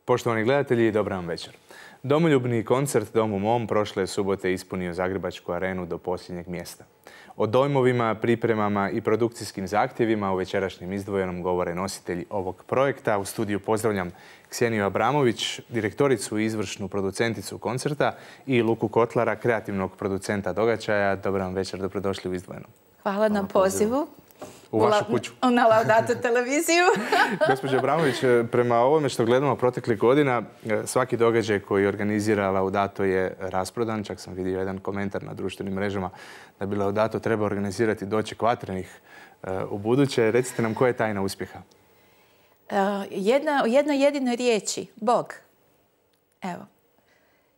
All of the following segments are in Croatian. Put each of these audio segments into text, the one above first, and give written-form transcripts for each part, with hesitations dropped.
Poštovani gledatelji, dobar vam večer. Domoljubni koncert Dom u mom prošle subote ispunio Zagrebačku arenu do posljednjeg mjesta. O dojmovima, pripremama i produkcijskim zahtjevima u večerašnjem izdvojenom govore nositelji ovog projekta. U studiju pozdravljam Kseniju Abramović, direktoricu i izvršnu producenticu koncerta, i Luku Kotlara, kreativnog producenta događaja. Dobar vam večer, dobrodošli u izdvojenom. Hvala na pozivu. U vašu kuću. Na Laudato televiziju. Gospođo Abramović, prema ovome što gledamo proteklih godina, svaki događaj koji organizira Laudato je rasprodan. Čak sam vidio jedan komentar na društvenim mrežama da bi Laudato treba organizirati doček vatrenih u buduće. Recite nam koja je tajna uspjeha? Jednoj jedinoj riječi. Bog. Evo.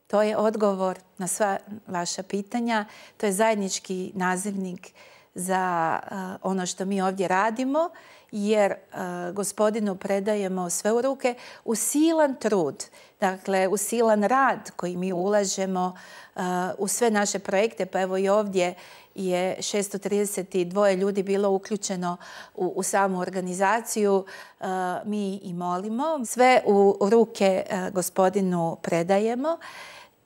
To je odgovor na sva vaša pitanja. To je zajednički nazivnik za ono što mi ovdje radimo, jer Gospodinu predajemo sve u ruke u silan trud, dakle u silan rad koji mi ulažemo u sve naše projekte. Pa evo i ovdje je 632 ljudi bilo uključeno u samu organizaciju. Mi i molimo. Sve u ruke Gospodinu predajemo.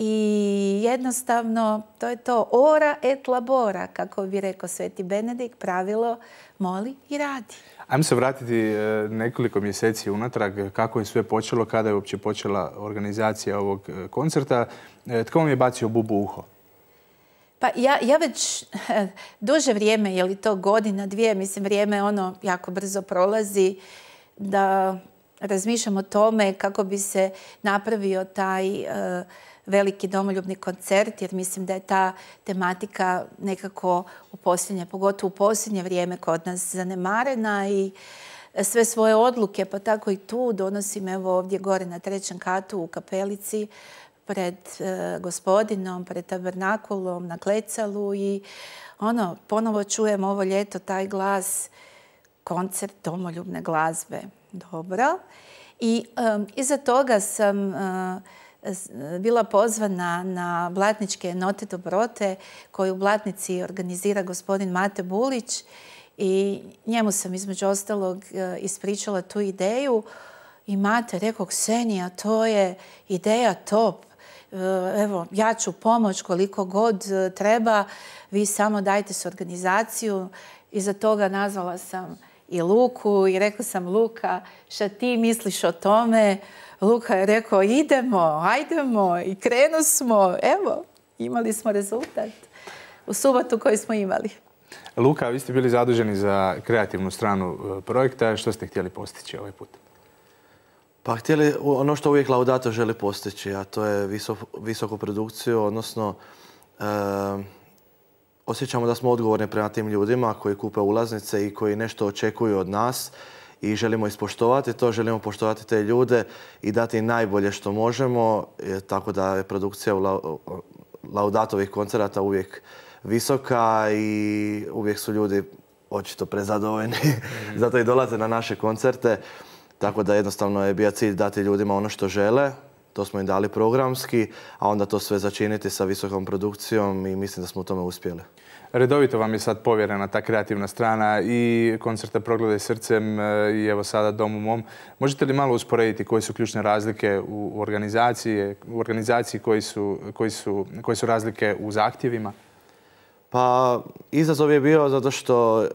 I jednostavno, to je to ora et labora, kako bi rekao Sveti Benedikt, pravilo moli i radi. Ajmo se vratiti nekoliko mjeseci unatrag. Kako je sve počelo, kada je uopće počela organizacija ovog koncerta? Tko vam je bacio bubu u uho? Pa ja već duže vrijeme, je li to godina, dvije, mislim vrijeme ono jako brzo prolazi, da razmišljam o tome kako bi se napravio taj veliki domoljubni koncert, jer mislim da je ta tematika nekako pogotovo u posljednje vrijeme kod nas zanemarena i sve svoje odluke, pa tako i tu donosim evo ovdje gore na 3. katu u kapelici pred Gospodinom, pred tabernakulom, na klecalu i ponovo čujem ovo ljeto taj glas, koncert domoljubne glazbe. Dobro. I iza toga sam bila pozvana na Blatničke note dobrote koju u Blatnici organizira gospodin Mate Bulić i njemu sam između ostalog ispričala tu ideju i Mate rekao: Ksenija, to je ideja top. Evo, ja ću pomoć koliko god treba, vi samo dajte se organizaciju. Iza toga nazvala sam i Luku i rekla sam: Luka, šta ti misliš o tome? Luka je rekao: ajdemo, i krenu smo. Evo, imali smo rezultat u subotu koji smo imali. Luka, vi ste bili zaduženi za kreativnu stranu projekta. Što ste htjeli postići ovaj put? Pa htjeli ono što uvijek Laudato želi postići, a to je visoku produkciju, odnosno osjećamo da smo odgovorni prema tim ljudima koji kupe ulaznice i koji nešto očekuju od nas i želimo ispoštovati to, želimo poštovati te ljude i dati najbolje što možemo, tako da je produkcija Laudatovih koncerata uvijek visoka i uvijek su ljudi očito prezadovoljni, zato i dolaze na naše koncerte, tako da jednostavno je bio cilj dati ljudima ono što žele. To smo im dali programski, a onda to sve začiniti sa visokom produkcijom i mislim da smo u tome uspjeli. Redovito vam je sad povjerena ta kreativna strana i koncerta Progledaj srcem i evo sada Dom u mom. Možete li malo usporediti koje su ključne razlike u organizaciji, koje su razlike u zahtjevima? Pa izazov je bio zato što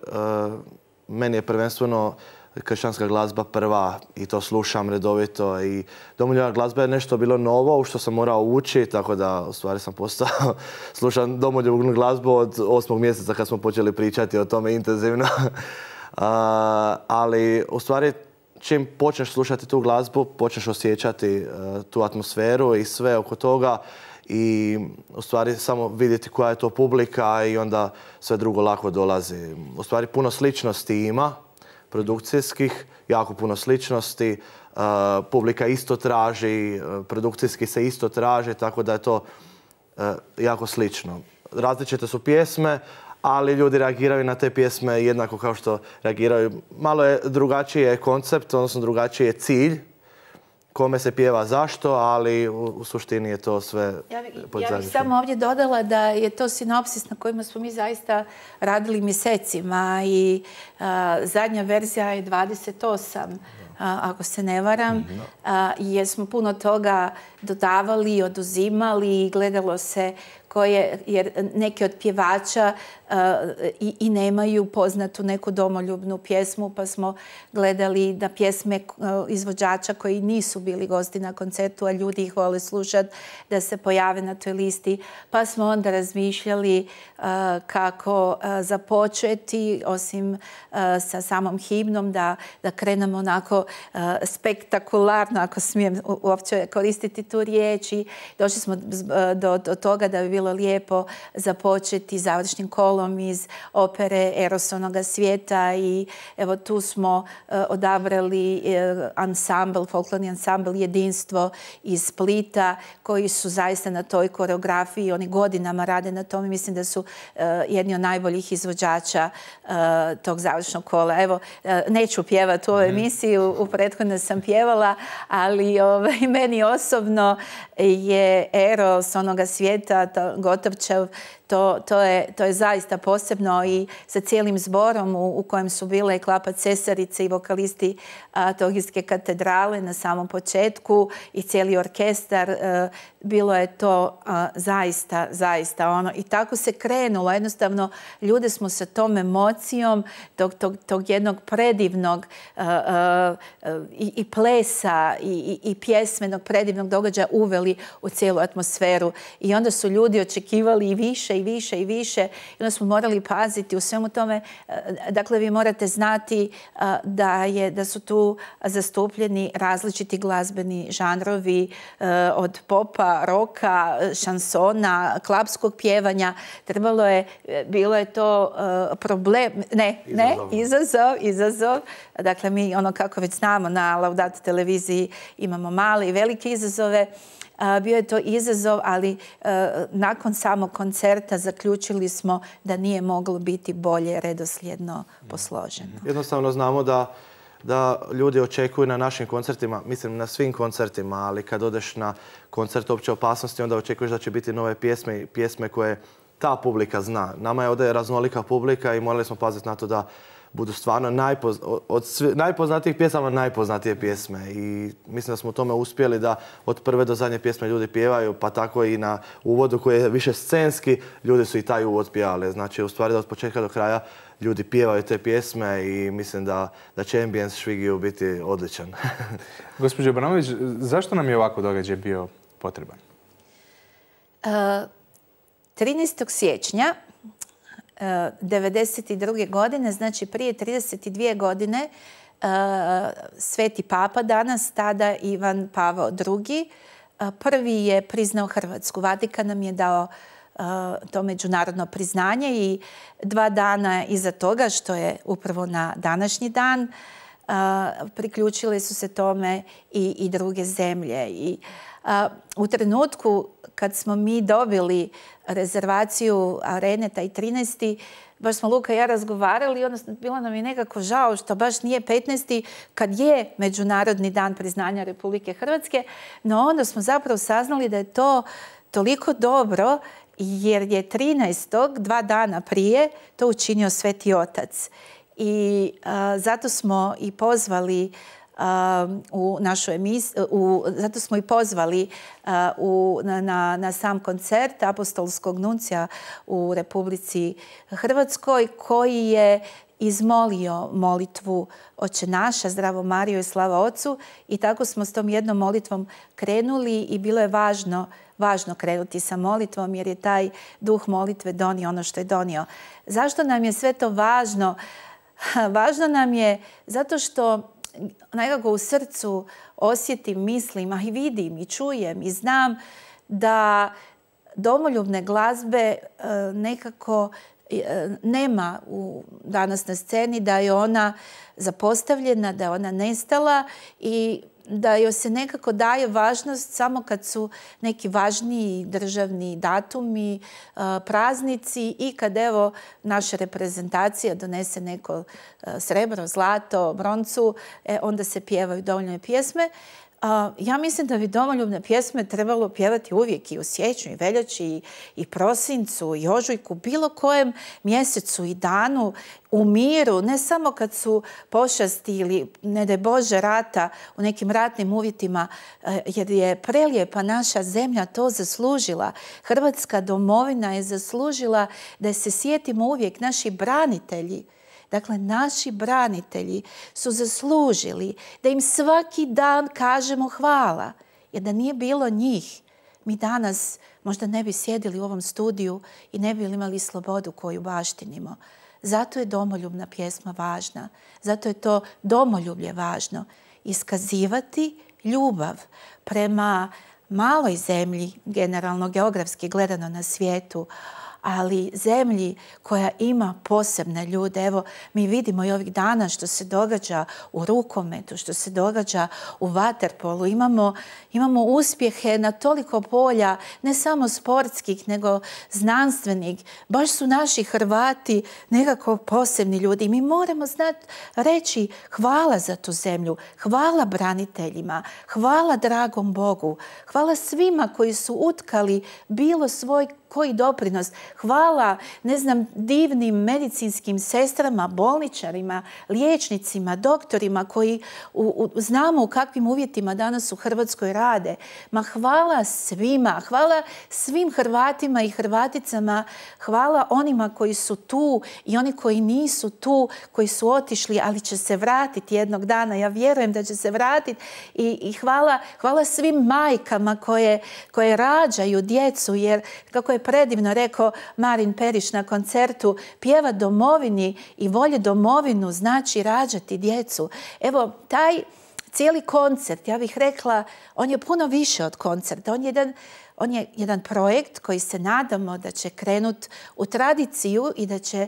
meni je prvenstveno kršćanska glazba prva i to slušam redovito i domoljubna glazba je nešto bilo novo u što sam morao ući, tako da u stvari sam postao slušam domoljubnu glazbu od 8. mjeseca kad smo počeli pričati o tome intenzivno. Ali u stvari čim počneš slušati tu glazbu, počneš osjećati tu atmosferu i sve oko toga i u stvari samo vidjeti koja je to publika i onda sve drugo lako dolazi. U stvari puno sličnosti ima, produkcijskih, jako puno sličnosti, publika isto traži, produkcijski se isto traži, tako da je to jako slično. Različite su pjesme, ali ljudi reagiraju na te pjesme jednako kao što reagiraju. Malo je drugačiji koncept, odnosno drugačiji je cilj, kome se pjeva zašto, ali u suštini je to sve Ja bih samo ovdje dodala da je to sinopsis na kojima smo mi zaista radili mjesecima i zadnja verzija je 28 ako se ne varam, jer smo puno toga dodavali, oduzimali i gledalo se jer neki od pjevača i nemaju poznatu neku domoljubnu pjesmu, pa smo gledali da pjesme izvođača koji nisu bili gosti na koncertu, a ljudi ih vole slušati, da se pojave na toj listi. Pa smo onda razmišljali kako započeti, osim sa samom himnom, da krenemo onako spektakularno, ako smijem uopće koristiti tu riječ. I došli smo do toga da bi bilo lijepo započeti završnim kolom iz opere Eros onoga svijeta i evo tu smo odabrali ansambl, folklorni ansambl Jedinstvo iz Splita, koji su zaista na toj koreografiji, oni godinama rade na tome. Mislim da su jedni od najboljih izvođača tog završnog kola. Evo, neću pjevati u ovoj emisiji, u prethodno sam pjevala, ali meni osobno je Eros onoga svijeta, Gotovčev, to je zaista posebno i sa cijelim zborom u kojem su bile i Klapa Cesarice i vokalisti Trogirske katedrale na samom početku i cijeli orkestar. Bilo je to zaista ono. I tako se krenulo. Jednostavno, ljude smo sa tom emocijom tog jednog predivnog i plesa i pjesmenog predivnog događaja uveli u cijelu atmosferu. I onda su ljudi očekivali i više i više i više. I onda smo morali paziti u svemu tome. Dakle, vi morate znati da su tu zastupljeni različiti glazbeni žanrovi od popa, roka, šansona, klapskog pjevanja. Bilo je to problem, izazov. Dakle, mi kako već znamo na Laudato televiziji imamo male i velike izazove. Bio je to izazov, ali nakon samog koncerta zaključili smo da nije moglo biti bolje redoslijedno posloženo. Jednostavno znamo da ljudi očekuju na našim koncertima, mislim na svim koncertima, ali kad odeš na koncert Opće opasnosti, onda očekuješ da će biti nove pjesme koje ta publika zna. Nama je ovdje raznolika publika i morali smo paziti na to da budu stvarno od najpoznatijih pjesama najpoznatije pjesme. I mislim da smo u tome uspjeli da od prve do zadnje pjesme ljudi pjevaju, pa tako i na uvodu koji je više scenski, ljudi su i taj uvod pjevali. Znači, u stvari da od početka do kraja ljudi pjevaju te pjesme i mislim da će Ambience Švigiju biti odličan. Gospođo Abramović, zašto nam je ovako događaj bio potreban? 13. siječnja 1992. godine, znači prije 32 godine, Sveti Papa danas, tada Ivan Pavao II, prvi je priznao Hrvatsku. Vatikan nam je dao to međunarodno priznanje i 2 dana iza toga, što je upravo na današnji dan, priključile su se tome i druge zemlje. I u trenutku kad smo mi dobili rezervaciju arene, taj 13. baš smo Luka i ja razgovarali, odnosno bilo nam je nekako žao što baš nije 15. kad je Međunarodni dan priznanja Republike Hrvatske, no onda smo zapravo saznali da je to toliko dobro jer je 13. 2 dana prije to učinio Sveti Otac. I zato smo i pozvali u našu emisiju, zato smo i pozvali na sam koncert apostolskog nuncija u Republici Hrvatskoj, koji je izmolio molitvu Oče naša, Zdravo Marijo i slava Ocu, i tako smo s tom jednom molitvom krenuli i bilo je važno krenuti sa molitvom jer je taj duh molitve donio ono što je donio. Zašto nam je sve to važno? Važno nam je zato što nekako u srcu osjetim, mislim, a i vidim i čujem i znam da domoljubne glazbe nekako nema danas na sceni, da je ona zapostavljena, da je ona nestala i da joj se nekako daje važnost samo kad su neki važniji državni datumi, praznici i kad evo naša reprezentacija donese neko srebro, zlato, broncu, onda se pjevaju dovoljne pjesme. Ja mislim da bi domoljubne pjesme trebalo pjevati uvijek i u siječnju, i veljači, i prosincu, i ožujku, bilo kojem mjesecu i danu u miru, ne samo kad su pošasti ili, ne daj Bože, rata u nekim ratnim uvjetima, jer je prelijepa naša zemlja to zaslužila. Hrvatska domovina je zaslužila da se sjetimo uvijek. Naši branitelji, dakle, naši branitelji su zaslužili da im svaki dan kažemo hvala. Jer da nije bilo njih, mi danas možda ne bi sjedili u ovom studiju i ne bi imali slobodu koju baštinimo. Zato je domoljubna pjesma važna. Zato je to domoljublje važno. Iskazivati ljubav prema maloj zemlji, generalno geografski gledano na svijetu, ali zemlji koja ima posebne ljude. Evo, mi vidimo i ovih dana što se događa u rukometu, što se događa u vaterpolu. Imamo uspjehe na toliko polja, ne samo sportskih, nego znanstvenih. Baš su naši Hrvati nekako posebni ljudi. Mi moramo znati reći hvala za tu zemlju, hvala braniteljima, hvala dragom Bogu, hvala svima koji su utkali bilo svoj koji doprinos. Hvala, ne znam, divnim medicinskim sestrama, bolničarima, liječnicima, doktorima koji znamo u kakvim uvjetima danas u Hrvatskoj rade. Ma hvala svima, hvala svim Hrvatima i Hrvaticama, hvala onima koji su tu i oni koji nisu tu, koji su otišli, ali će se vratiti jednog dana. Ja vjerujem da će se vratiti i hvala svim majkama koje rađaju djecu, jer kako je predivno rekao Marin Perić na koncertu, pjeva domovini i volje domovinu znači rađati djecu. Evo, taj cijeli koncert, ja bih rekla, on je puno više od koncerta. On je jedan projekt koji se nadamo da će krenuti u tradiciju i da će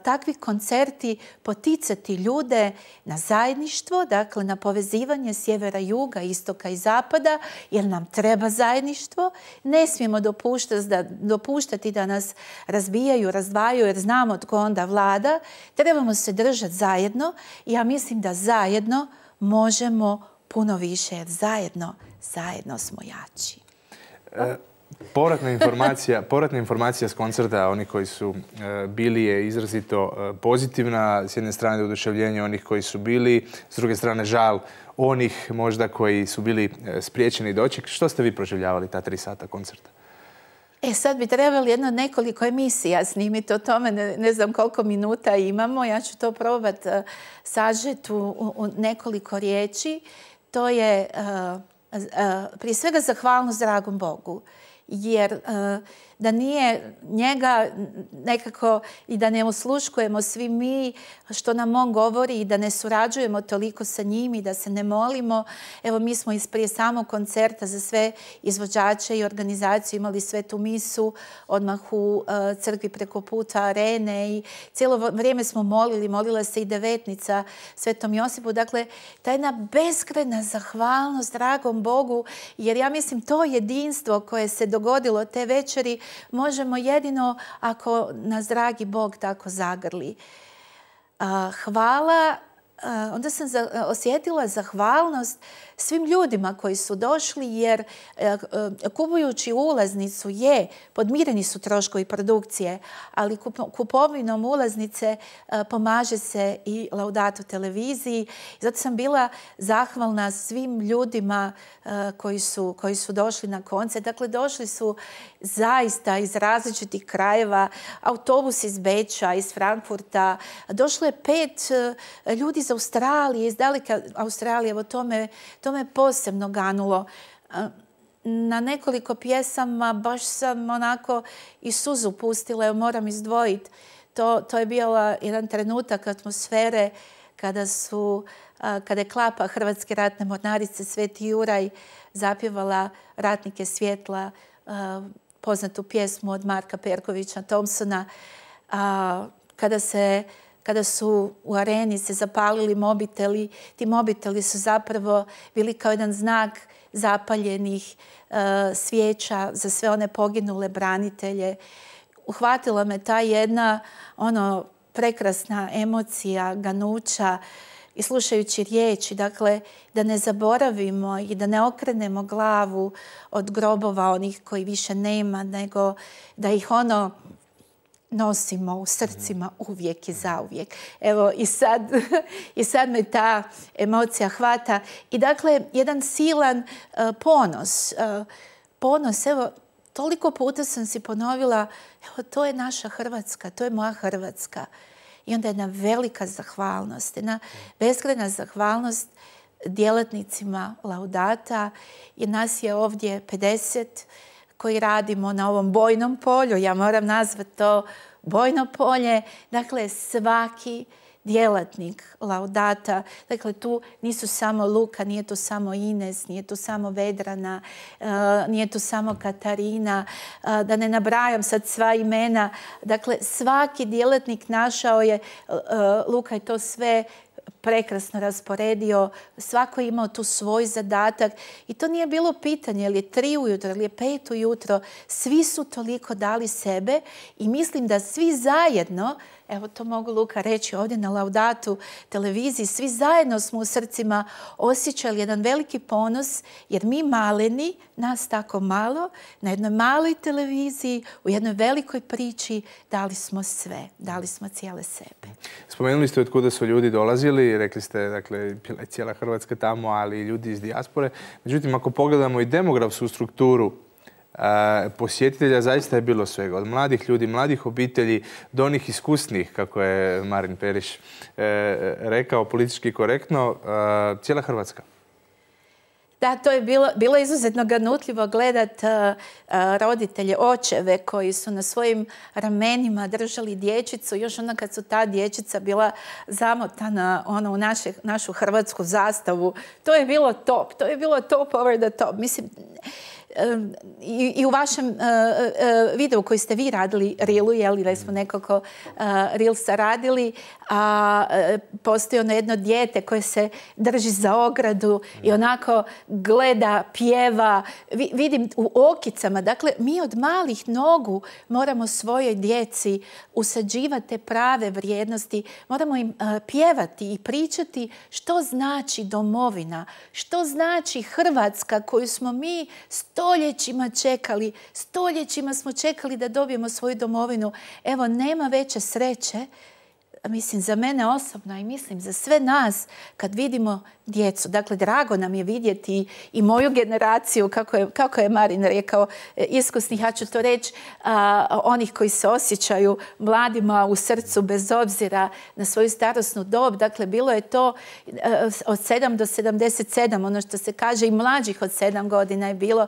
takvi koncerti poticati ljude na zajedništvo, dakle na povezivanje sjevera, juga, istoka i zapada, jer nam treba zajedništvo. Ne smijemo dopuštati da nas razbijaju, razdvajaju, jer znamo tko onda vlada. Trebamo se držati zajedno i ja mislim da zajedno možemo puno više, jer zajedno smo jači. Povratna informacija s koncerta, oni koji su bili, je izrazito pozitivna. S jedne strane oduševljenje onih koji su bili, s druge strane žal onih možda koji su bili spriječeni doček. Što ste vi proživljavali ta 3 sata koncerta? Sad bi trebali nekoliko emisija snimiti o tome, ne znam koliko minuta imamo. Ja ću to probati sažeti u nekoliko riječi. To je prije svega zahvalnost dragom Bogu, jer da nije njega nekako i da ne osluškujemo svi mi što nam on govori i da ne surađujemo toliko sa njim i da se ne molimo. Evo, mi smo prije samog koncerta za sve izvođače i organizaciju imali svetu misu odmah u crkvi preko puta Arene i cijelo vrijeme smo molila se i devetnica Svetom Josipu. Dakle, ta jedna beskrajna zahvalnost dragom Bogu, jer ja mislim to jedinstvo koje se dogodilo te večeri možemo jedino ako nas dragi Bog tako zagrli. Hvala. Onda sam osjetila zahvalnost svim ljudima koji su došli, jer kupujući ulaznicu podmireni su troškovi produkcije, ali kupovinom ulaznice pomaže se i Laudato televiziji. Zato sam bila zahvalna svim ljudima koji su došli na koncert. Dakle, došli su zaista iz različitih krajeva, autobus iz Beča, iz Frankfurta. Došlo je 5 ljudi iz Australije, iz daleke Australije. Evo, to me posebno ganulo. Na nekoliko pjesama baš sam onako i suzu pustila, moram izdvojiti. To je bio jedan trenutak atmosfere kada je klapa Hrvatske ratne mornarice Sveti Juraj zapjevala Ratnike svjetla, poznatu pjesmu od Marka Perkovića Thompsona, kada su u areni se zapalili mobiteli. Ti mobiteli su zapravo bili kao jedan znak zapaljenih svijeća za sve one poginule branitelje. Uhvatila me ta jedna prekrasna emocija ganuća i slušajući riječi, dakle, da ne zaboravimo i da ne okrenemo glavu od grobova onih koji više nema, nego da ih nosimo u srcima uvijek i zauvijek. Evo, i sad me ta emocija hvata. I dakle, jedan silan ponos. Ponos, evo, toliko puta sam si ponovila, evo, to je naša Hrvatska, to je moja Hrvatska. I onda jedna velika zahvalnost, jedna beskrajna zahvalnost djelatnicima Laudata, jer nas je ovdje 50 koji radimo na ovom bojnom polju. Ja moram nazvati to bojno polje. Dakle, svaki djelatnik Laudata. Dakle, tu nisu samo Luka, nije tu samo Ines, nije tu samo Vedrana, nije tu samo Katarina, da ne nabrajam sad sva imena. Dakle, svaki djelatnik našao je, Luka je to sve prekrasno rasporedio, svako je imao tu svoj zadatak i to nije bilo pitanje je li je 3 ujutro ili je 5 ujutro, svi su toliko dali sebe i mislim da svi zajedno, evo to mogu Luka reći ovdje na Laudatu televiziji, svi zajedno smo u srcima osjećali jedan veliki ponos jer mi maleni, nas tako malo, na jednoj maloj televiziji, u jednoj velikoj priči dali smo sve, dali smo cijele sebe. Spomenuli ste od kuda su ljudi dolazili, rekli ste, dakle, bila je cijela Hrvatska tamo, ali i ljudi iz dijaspore. Međutim, ako pogledamo i demografsku strukturu posjetitelja, zaista je bilo svega. Od mladih ljudi, mladih obitelji, do onih iskusnih, kako je Marin Periš rekao, politički korektno, cijela Hrvatska. Da, to je bilo izuzetno ganutljivo gledat roditelje, očeve koji su na svojim ramenima držali dječicu. Još onda kad su ta dječica bila zamotana u našu hrvatsku zastavu. To je bilo top. To je bilo top over the top. Mislim, i u vašem videu koji ste vi radili, Reelu, jer smo nekoliko Reelsa radili, postoji ono jedno dijete koje se drži za ogradu i onako gleda, pjeva. Vidim u okicama. Dakle, mi od malih nogu moramo svojoj djeci usađivati te prave vrijednosti. Moramo im pjevati i pričati što znači domovina, što znači Hrvatska koju smo mi stoljećima čekali. Stoljećima smo čekali da dobijemo svoju domovinu. Evo, nema veće sreće, mislim, za mene osobno i mislim za sve nas kad vidimo djecu. Dakle, drago nam je vidjeti i moju generaciju, kako je Marin rekao, iskusnih, ja ću to reći, onih koji se osjećaju mladima u srcu bez obzira na svoju starosnu dob. Dakle, bilo je to od 7 do 77, ono što se kaže, i mlađih od 7 godina je bilo.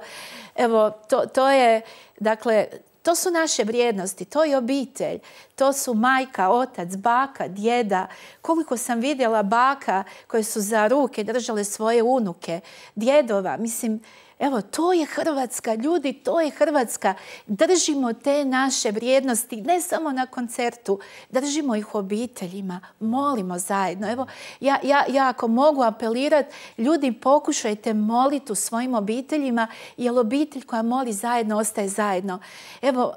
Evo, to je, dakle, to su naše vrijednosti, to je obitelj, to su majka, otac, baka, djeda. Koliko sam vidjela baka koje su za ruke držale svoje unuke, djedova. Mislim, evo, to je Hrvatska, ljudi, to je Hrvatska. Držimo te naše vrijednosti, ne samo na koncertu, držimo ih u obiteljima, molimo zajedno. Evo, ja ako mogu apelirati, ljudi, pokušajte moliti u svojim obiteljima, jer obitelj koja moli zajedno, ostaje zajedno. Evo,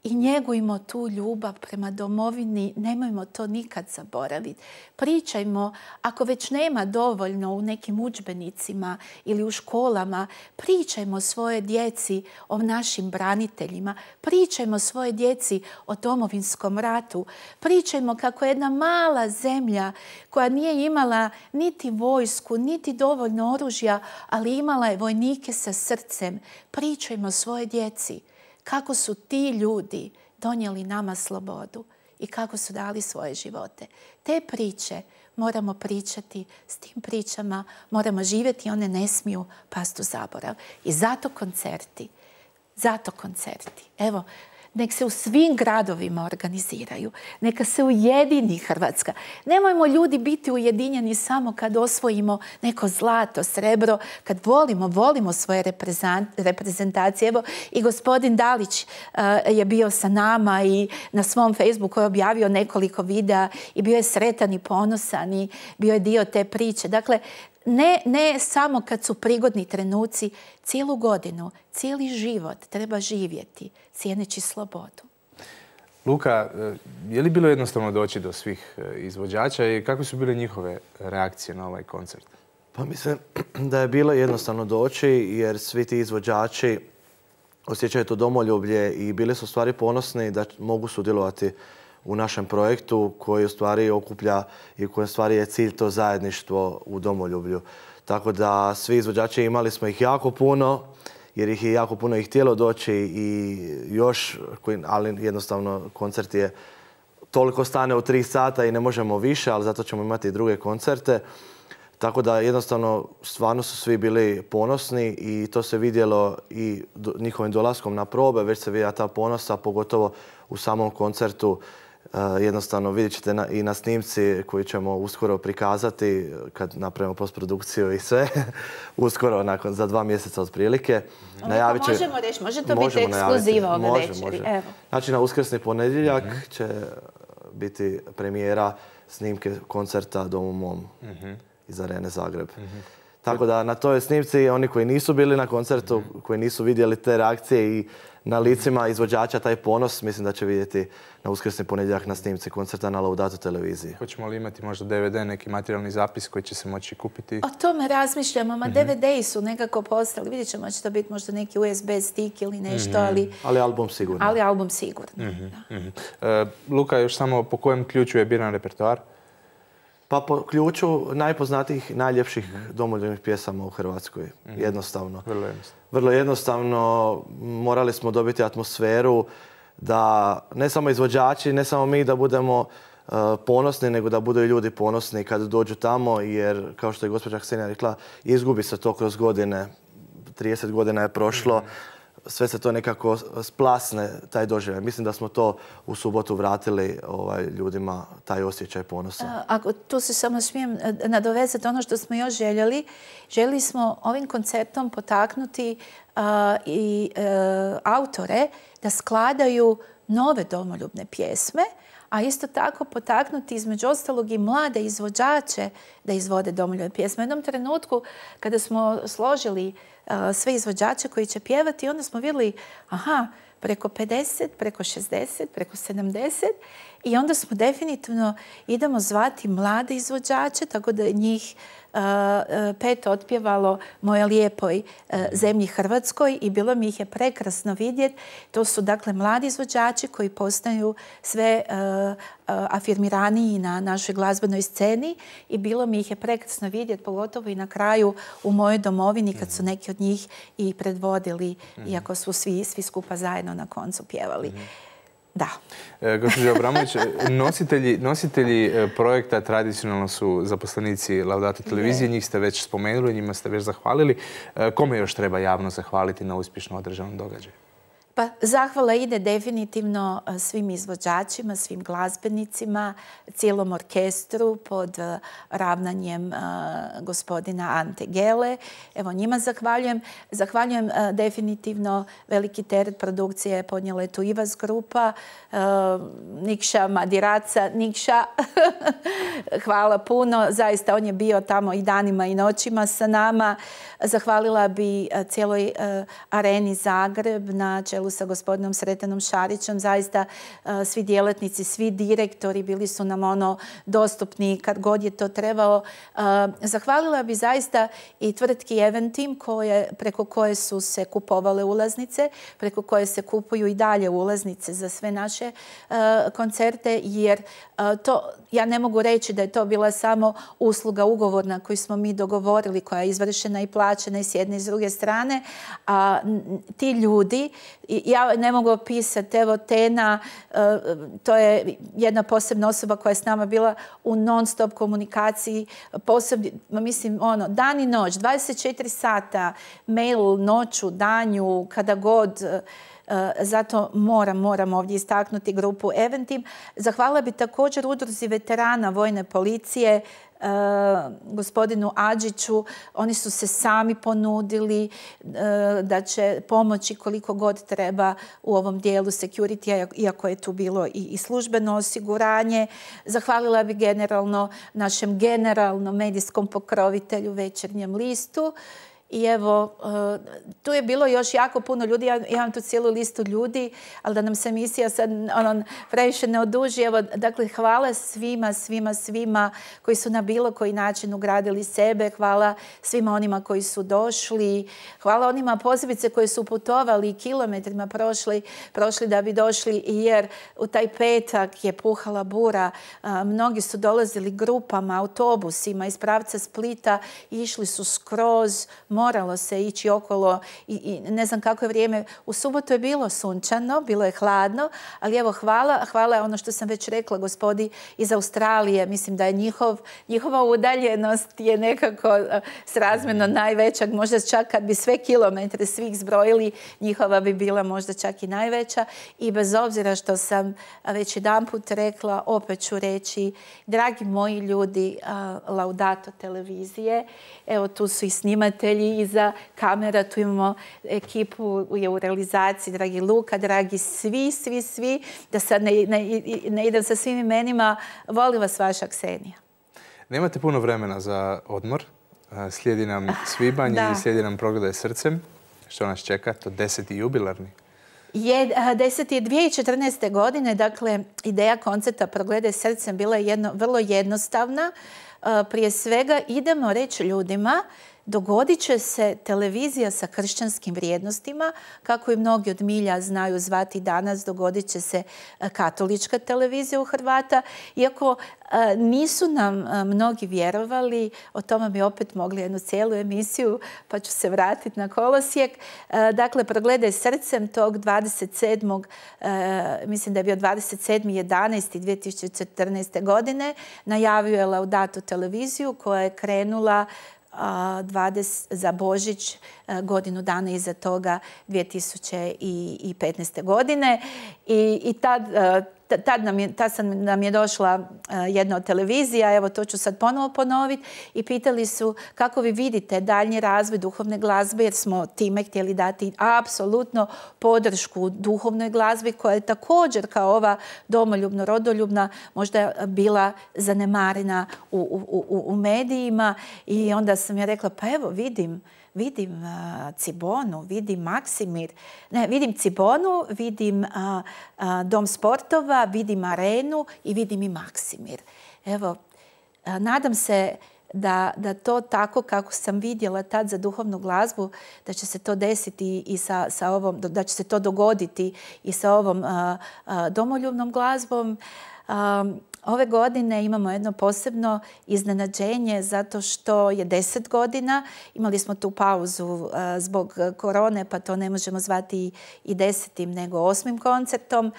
i njegujmo tu ljubav prema domovini, nemojmo to nikad zaboraviti. Pričajmo, ako već nema dovoljno u nekim udžbenicima ili u školama, pričajmo svoje djeci o našim braniteljima, pričajmo svoje djeci o Domovinskom ratu, pričajmo kako jedna mala zemlja koja nije imala niti vojsku, niti dovoljno oružja, ali imala je vojnike sa srcem. Pričajmo svoje djeci kako su ti ljudi donijeli nama slobodu i kako su dali svoje živote. Te priče moramo pričati, s tim pričama moramo živjeti i one ne smiju pasti u zaborav. I zato koncerti. Evo, nek se u svim gradovima organiziraju. Neka se ujedini Hrvatska. Nemojmo ljudi biti ujedinjeni samo kad osvojimo neko zlato, srebro, kad volimo svoje reprezentacije. Evo, i gospodin Dalić je bio sa nama i na svom Facebooku je objavio nekoliko videa i bio je sretan i ponosan i bio je dio te priče. Dakle, ne samo kad su prigodni trenuci, cijelu godinu, cijeli život treba živjeti cijeneći slobodu. Luka, je li bilo jednostavno doći do svih izvođača i kako su bile njihove reakcije na ovaj koncert? Pa mislim da je bilo jednostavno doći jer svi ti izvođači osjećaju to domoljublje i bili su u stvari ponosni da mogu sudjelovati u našem projektu koji u stvari okuplja i koji u stvari je cilj to zajedništvo u domoljublju. Tako da svi izvođači imali smo ih jako puno jer ih je jako puno htjelo doći i još, ali jednostavno koncert je toliko stane u 3 sata i ne možemo više, ali zato ćemo imati i druge koncerte. Tako da jednostavno stvarno su svi bili ponosni i to se vidjelo i njihovim dolaskom na probe, već se vidjela ta ponosa, pogotovo u samom koncertu. Jednostavno vidjet ćete i na snimci koji ćemo uskoro prikazati kad napravimo postprodukciju i sve. Uskoro, za 2 mjeseca otprilike. Možemo reći, može to biti ekskluziva ove večeri. Znači na uskrsni ponedjeljak će biti premijera snimke koncerta Domu mom iz Arene Zagreb. Tako da na toj snimci oni koji nisu bili na koncertu, koji nisu vidjeli te reakcije i na licima izvođača taj ponos, mislim da će vidjeti na uskrsni ponedjeljak na snimci koncerta na Laudato televiziji. Hoćemo li imati možda DVD, neki materijalni zapis koji će se moći kupiti? O tome razmišljamo, DVD-i su nekako postali. Vidjet ćemo, će to biti možda neki USB stick ili nešto, ali... Ali album sigurno. Ali album sigurno, Luka, još samo po kojem ključu je biran repertoar? Pa po ključu najpoznatijih, najljepših domoljubnih pjesama u Hrvatskoj. Jednostavno. Vrlo jednostavno. Morali smo dobiti atmosferu da ne samo izvođači, ne samo mi da budemo ponosni, nego da budu i ljudi ponosni kad dođu tamo, jer kao što je gospođa Ksenija rekla, izgubi se to kroz godine. 30 godina je prošlo. Sve se to nekako splasne, taj doživljaj. Mislim da smo to u subotu vratili ljudima, taj osjećaj ponosa. Ako tu se samo smijem nadovezati ono što smo još željeli. Željeli smo ovim koncertom potaknuti i autore da skladaju nove domoljubne pjesme, a isto tako potaknuti između ostalog i mlade izvođače da izvode domoljubne pjesme. U jednom trenutku kada smo složili sve izvođače koji će pjevati, onda smo vidjeli, preko 50, preko 60, preko 70 i onda smo definitivno idemo zvati mlade izvođače, tako da njih 5 otpjevalo Moja lijepoj zemlji Hrvatskoj i bilo mi ih je prekrasno vidjeti. To su dakle mladi izvođači koji postaju sve afirmiraniji na našoj glazbenoj sceni i bilo mi ih je prekrasno vidjeti, pogotovo i na kraju u mojoj domovini kad su neki od njih i predvodili, iako su svi skupa zajedno na koncu pjevali. Da. Gospođo Abramović, nositelji projekta tradicionalno su zaposlenici Laudato televizije. Njih ste već spomenuli, njima ste već zahvalili. Kome još treba javno zahvaliti na uspješno održanom događaju? Pa zahvala ide definitivno svim izvođačima, svim glazbenicima, cijelom orkestru pod ravnanjem gospodina Ante Gele. Evo njima zahvaljujem. Zahvaljujem definitivno veliki teret produkcije podnijela je tu Ivas grupa, Nikša Madiraca, Nikša. Hvala puno. Zaista on je bio tamo i danima i noćima sa nama. Zahvalila bi cijeloj Areni Zagreb na čelu sa gospodinom Sretanom Šarićem. Zaista svi djelatnici, svi direktori bili su nam dostupni kad god je to trebalo. Zahvalila bi zaista i tvrtki Eventim preko koje su se kupovale ulaznice, preko koje se kupuju i dalje ulaznice za sve naše koncerte, jer ja ne mogu reći da je to bila samo usluga ugovorna koju smo mi dogovorili, koja je izvršena i plaćena i s jedne i s druge strane. A ti ljudi, ja ne mogu opisati, evo Tena, to je jedna posebna osoba koja je s nama bila u non-stop komunikaciji, mislim, dan i noć, 24 sata, mail noću, danju, kada god. Zato moram ovdje istaknuti grupu Eventim. Zahvalila bi također udruzi veterana Vojne policije, gospodinu Adžiću. Oni su se sami ponudili da će pomoći koliko god treba u ovom dijelu security, iako je tu bilo i službeno osiguranje. Zahvalila bi generalno našem generalnom medijskom pokrovitelju Večernjem listu. I evo, tu je bilo još jako puno ljudi, ja imam tu cijelu listu ljudi, ali da nam se emisija sad previše ne oduži. Evo, dakle, hvala svima koji su na bilo koji način ugradili sebe, hvala svima onima koji su došli, hvala onima posebice koji su putovali kilometrima prošli da bi došli, jer u taj petak je puhala bura, mnogi su dolazili grupama, autobusima iz pravca Splita, išli su skroz, moralo se ići okolo i ne znam kako je vrijeme. U subotu je bilo sunčano, bilo je hladno, ali evo hvala ono što sam već rekla gospodi iz Australije. Mislim da je njihova udaljenost je nekako srazmjerno najveća. Možda čak kad bi sve kilometre svih zbrojili, njihova bi bila možda čak i najveća. I bez obzira što sam već jedanput rekla, opet ću reći, dragi moji ljudi Laudato televizije, evo tu su i snimatelji iza kamera, tu imamo ekipu u realizaciji, dragi Luka, dragi svi, da sad ne idem sa svim imenima, volim vas vaša Ksenija. Nemate puno vremena za odmor, slijedi nam svibanj i slijedi nam Progledaj srcem. Što nas čeka? To 10. jubilarni. 10. je 2014. godine, dakle, ideja koncerta Progledaj srcem bila je vrlo jednostavna. Prije svega idemo reći ljudima, dogodit će se televizija sa kršćanskim vrijednostima, kako i mnogi od milja znaju zvati danas, dogodit će se katolička televizija u Hrvata. Iako nisu nam mnogi vjerovali, o tome bi opet mogli jednu cijelu emisiju, pa ću se vratiti na kolosijek. Dakle, Progledaj srcem tog 27. mislim da je bio 27.11.2014. godine, najavio je Laudato televiziju koja je krenula za Božić godinu dana iza toga 2015. godine. I tad nam je došla jedna od televizija, evo to ću sad ponovo ponoviti, i pitali su kako vi vidite daljnji razvoj duhovne glazbe, jer smo time htjeli dati apsolutno podršku duhovnoj glazbi koja je također kao ova domoljubno, rodoljubna možda bila zanemarena u medijima. I onda sam ja rekla, pa evo vidim Cibonu, vidim Maksimir, vidim Cibonu, vidim Dom sportova, vidim Arenu i vidim i Maksimir. Evo, nadam se da to tako kako sam vidjela tad za duhovnu glazbu, da će se to desiti i sa ovom, da će se to dogoditi i sa ovom domoljubnom glazbom. Ove godine imamo jedno posebno iznenađenje zato što je 10 godina. Imali smo tu pauzu zbog korone, pa to ne možemo zvati i 10. nego 8. koncertom.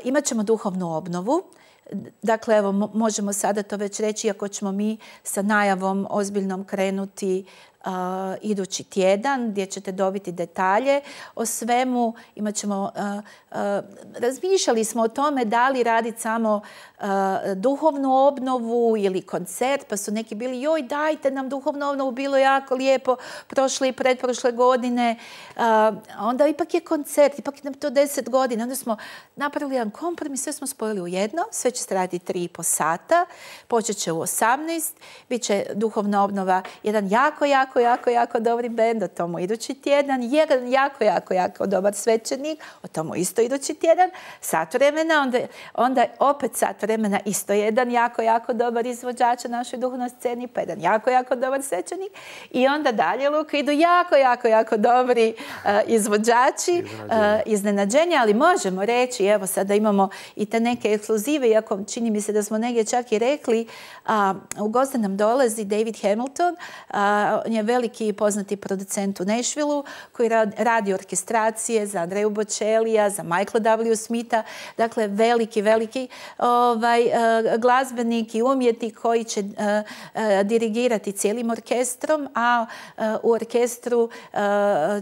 Imat ćemo duhovnu obnovu. Dakle, evo, možemo sada to već reći, iako ćemo mi sa najavom ozbiljnom krenuti idući tjedan, gdje ćete dobiti detalje o svemu. Razmišljali smo o tome da li raditi samo duhovnu obnovu ili koncert, pa su neki bili, joj dajte nam duhovnu obnovu, bilo jako lijepo prošle i pretprošle godine. Onda ipak je koncert, ipak nam to 10 godina. Onda smo napravili jedan kompromis, sve smo spojili u jedno, sve će se raditi 3,5 sata, počet će u 18, bit će duhovna obnova, jedan jako dobri bend, o tomu idući tjedan, jedan jako dobar svećenik, o tomu isto idući tjedan, sat vremena, onda opet sat vremena, isto jedan jako dobar izvođač na našoj duhovnoj sceni, pa jedan jako dobar svećenik, i onda dalje, Luka, idu jako dobri izvođači, iznenađenja, ali možemo reći, evo sada imamo i te neke ekskluzive, iako čini mi se da smo negdje čak i rekli, u goste nam dolazi David Hamilton, on je veliki poznati producent u Nashvilleu koji radi orkestracije za Andreju Bocellija, za Michaela W. Smitha, dakle veliki glazbenik i umjetnik koji će dirigirati cijelim orkestrom, a u orkestru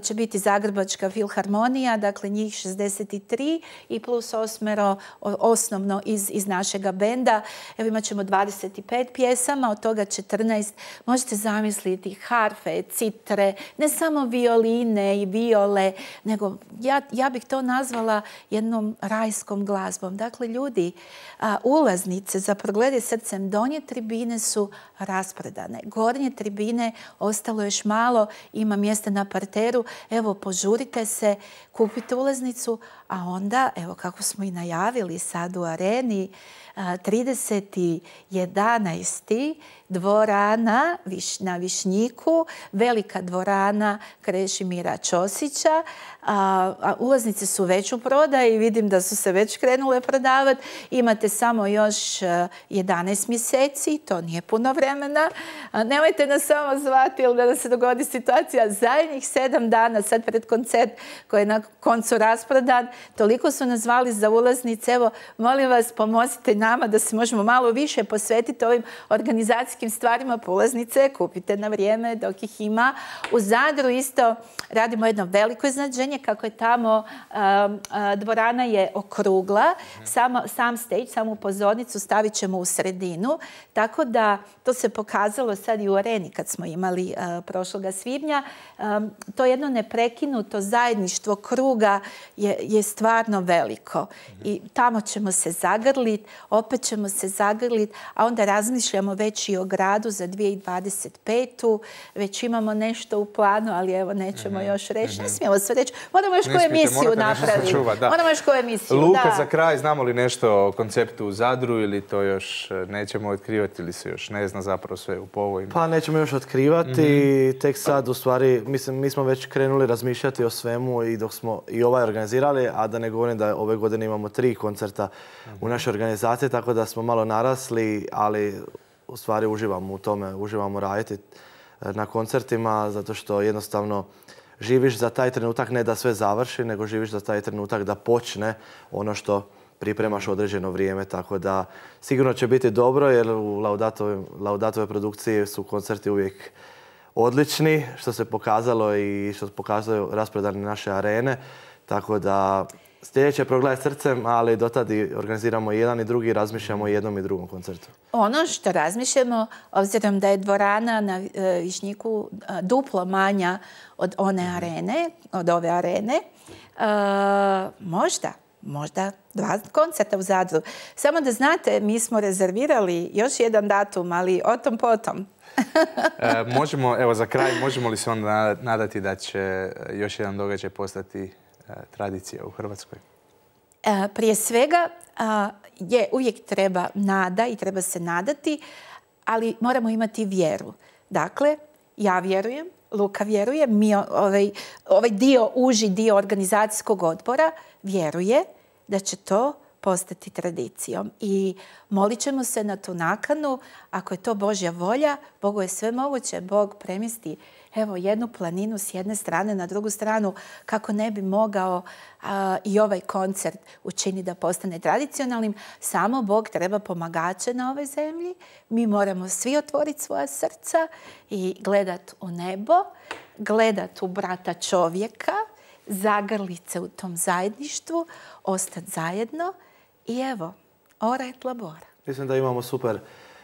će biti Zagrebačka filharmonija, dakle njih 63 i plus 8 osnovno iz našega benda. Evo imat ćemo 25 pjesama, od toga 14, možete zamisliti, harfe, citre, ne samo violine i viole, nego ja bih to nazvala jednom rajskom glazbom. Dakle, ljudi, ulaznice za Progledi srcem donje tribine su rasprodane. Gornje tribine ostalo još malo, ima mjesta na parteru. Evo, požurite se, kupite ulaznicu, a onda, evo kako smo i najavili sad u areni, 30.11. dvorana na Višnjiku, velika dvorana Krešimira Ćosića. Ulaznice su već u prodaji, vidim da su se već krenule prodavati. Imate samo još 11 mjeseci, to nije puno vremena. Nemojte nas samo zvati ili da nam se dogodi situacija. Zadnjih 7 dana, sad pred koncert koji je na koncu rasprodan, toliko su nas zvali za ulaznice. Evo, molim vas, pomozite nama da se možemo malo više posvetiti ovim organizacijskim stvarima. Ulaznice kupite na vrijeme dok ih ima. U Zadru isto radimo jedno veliko iznenađenje, kako je tamo dvorana je okrugla, sam stage, samu pozornicu stavit ćemo u sredinu, tako da to se pokazalo sad i u areni kad smo imali prošloga svibnja. To jedno neprekinuto zajedništvo kruga je stvarno veliko i tamo ćemo se zagrliti, opet ćemo se zagrliti, a onda razmišljamo već i o gradu za 2025. Već imamo nešto u planu, ali evo nećemo još reći. Ne smijemo sve reći. Moramo još koju emisiju napraviti. Moramo još koju emisiju, Luka, za kraj, znamo li nešto o konceptu u Zadru ili to još nećemo otkrivati ili se još ne zna zapravo sve u povojima? Pa nećemo još otkrivati. Tek sad, u stvari, mislim, mi smo već krenuli razmišljati o svemu i dok smo i ovaj organizirali, a da ne govorim da ove godine imamo 3 koncerta u našoj organizaciji, tako da smo malo narasli, ali u stvari uživamo u tome, uživamo raditi na koncertima, zato što jednostavno živiš za taj trenutak, ne da sve završi, nego živiš za taj trenutak da počne ono što pripremaš određeno vrijeme. Tako da sigurno će biti dobro, jer u Laudatove produkciji su koncerti uvijek odlični, što se pokazalo i što pokazuju rasprodane naše arene. Tako da sljedeće je Progled srcem, ali dotad organiziramo jedan i drugi, razmišljamo o jednom i drugom koncertu. Ono što razmišljamo, obzirom da je dvorana na Višnjiku duplo manja od one arene, od ove arene, možda 2 koncerta u Zadru. Samo da znate, mi smo rezervirali još jedan datum, ali o tom potom. Možemo, evo za kraj, možemo li se onda nadati da će još jedan događaj postati tradicija u Hrvatskoj? Prije svega, uvijek treba nada i treba se nadati, ali moramo imati vjeru. Dakle, ja vjerujem, Luka vjeruje, mi ovaj uži dio organizacijskog odbora vjeruje da će to postati tradicijom. I molit ćemo se na tu nakanu, ako je to Božja volja, Bogu je sve moguće, Bog premjesti jednu planinu s jedne strane na drugu stranu, kako ne bi mogao i ovaj koncert učiniti da postane tradicionalnim. Samo Bog treba pomagače na ovoj zemlji. Mi moramo svi otvoriti svoja srca i gledat u nebo, gledat u brata čovjeka, zagrlit se u tom zajedništvu, ostati zajedno i evo, ora et labora. Mislim da imamo super